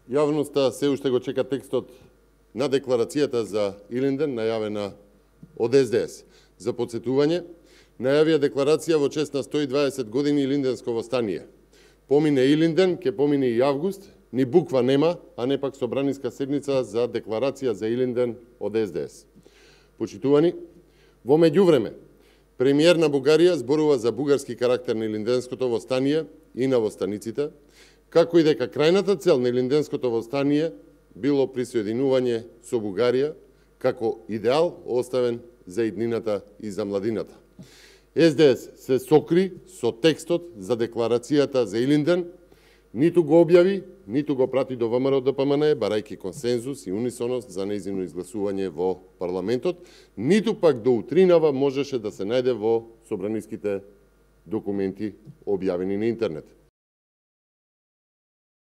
Јавноста се уште го чека текстот на декларацијата за Илинден, најавена од СДС. За подсетување, најавија декларација во чест на 120 години Илинденско востание. Помине Илинден, ке помине и август, ни буква нема, а не пак собраниска седница за декларација за Илинден од СДС. Почитувани, во меѓувреме, премиер на Бугарија зборува за бугарски карактер на Илинденското востание и на востаниците, како и дека крајната цел на Илинденското востание било присоединување со Бугарија како идеал оставен за иднината и за младината. СДС се сокри со текстот за декларацијата за Илинден, ниту го објави, ниту го прати до ВМРО ДПМН, барајќи консензус и унисоност за нејзино изгласување во парламентот, ниту пак до утринава можеше да се најде во собраниските документи објавени на интернет.